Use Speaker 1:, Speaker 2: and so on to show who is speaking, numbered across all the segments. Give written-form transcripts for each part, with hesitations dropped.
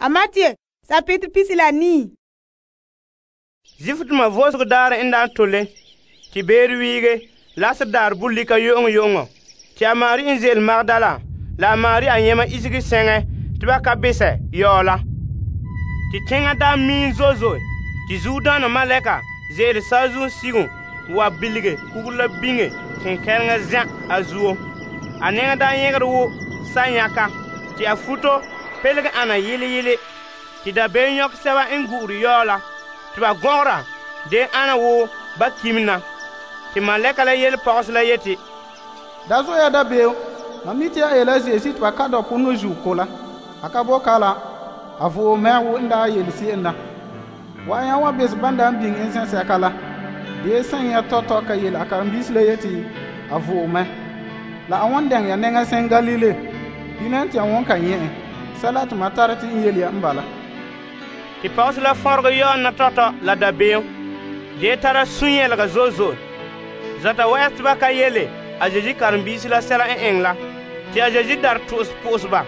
Speaker 1: a Matthew sapete pisi la nii.
Speaker 2: Zifdoma vo'osego daarɛ n daa tole, te beere wiige, lasere daarɛ bulika yo'oŋɔ, te a Mari n ze'ele Magdala la a Mari a yɛma isege sɛŋɛ te ba ka besɛ yaɔ la. Te teŋa daa miin zo'e, te zuodaana malɛka ze'ele saazuo sige wa bilige kugure la biŋe kenkɛleŋa zɛ' a zuo. A nɛŋa daa yɛgere wo sanyaka, te a futo pelege ana yele. Te dabeem nyɔkɛ sɛba n gu'ure yaɔ la, te ba gɔgɔra de ana wo ba kim na. Te malɛka la yele pɔgɔse la yeti,
Speaker 3: Da zo ya dabeem, mam mi te a yela zeesi te ba ka dɔ ponɔ zuo ko la. A ka bo kala, a vo'o mɛ wo n daa yele se'em na. Wa'anya wa bes ban daa biŋ ensɛsɛka la. Dee sɛn ya tɔtɔ ka yele a karen-biisi la yeti a vo'o mɛ. La a wan dɛŋ ya nɛŋa sɛn Galile. Bilam te ya won ka nyɛ en. Sɛla te ma tare te n yele ya n bala.
Speaker 2: Te pɔgɔse la fɔregɛ yaɔ na tɔtɔ la dabeem, de tara sũ-yɛlega zo'e. Zata wɛ'ɛse te ba ka yele a Zeezi karen-biisi la sɛla n eŋɛ la. Te a Zeezi dar po'ose ba,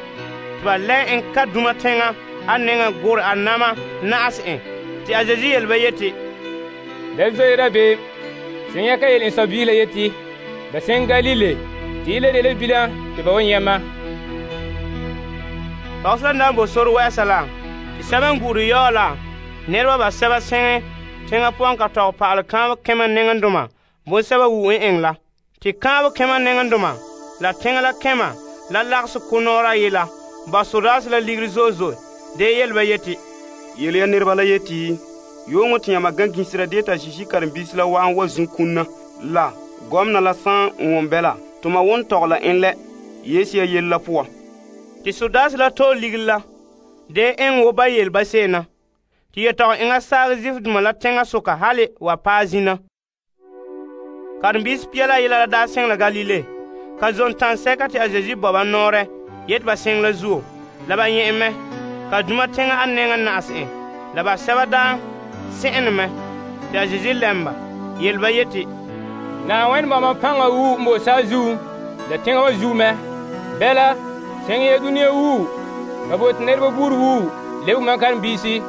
Speaker 2: te ba lɛ en ka duma teŋa a nɛŋa gore a nama na'ase en. Te a Zeezi yele ba yeti,
Speaker 4: Da zoe dabeem, seŋ ya ka yele n sɔbiisi la yeti, ba seŋ Galile, te yele de la bilam te ba wan yɛma.
Speaker 2: Pɔgɔse la na bo sore wɛ'ɛsa la, te sɛba n gu'ure yaɔ la, nɛreba basɛba sɛŋɛ teŋa pɔgɔn ka tɔgɛ pa'alɛ kaanbɛ kɛmɛ nɛŋendoma bonsɛba wu'u n eŋɛ la. Te kaanbɛ kɛmɛ nɛŋendoma la teŋa la kɛmɛ la lagese ko-nɔɔra yela ba sodaase la ligiri zo'e de yele ba yeti,
Speaker 5: yele ya nɛreba la yeti, yooŋɔ te yãma gã gisera de ta Zeezi karen-biisi la wa'an wa zun kunna la gɔmena la sãn n won bɛ la, tuma won tɔgɛ la en lɛ Yesu ya yele la poan.
Speaker 2: Te sodaase la tɔɔ ligiri la de eŋɛ wo ba yele ba se'em na. Te yetɔgɔ eŋa saagɛ zifdoma la teŋa soka hali wa paɛ zina. Karen-biisi pia la yela la daa seŋ la Galile. Ka zon tansɛka te a Zeezi bɔ ba nɔɔrɛ yeti ba seŋ la zuo. La ba nyɛ en mɛ. Ka duma teŋa a nɛŋa na'ase en. La ba sɛba daa se'ene mɛ. Te a Zeezi lɛm ba, yele ba yeti,
Speaker 4: Na'ayenɛ bama paŋa wu n bo saazuo la teŋa wa zuo mɛ. Bɛla, seŋ ya dunia wu, ka bote nɛreba buuri wu lebe mam karen-biisi.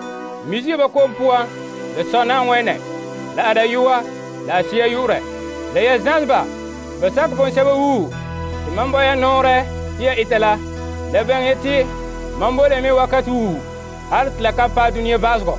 Speaker 4: Misi ba kom puan, la sɔ Na'ayenɛ, la a dayɔa, la a Sea yu'urɛ. La ya zãse ba sakɛ bonsɛba wu, te mam bɔ ya nɔɔrɛ te ya ita la. La bɛŋ ya te mam bo la me wakati wu, hali te la ka paɛ dunia baasegɔ.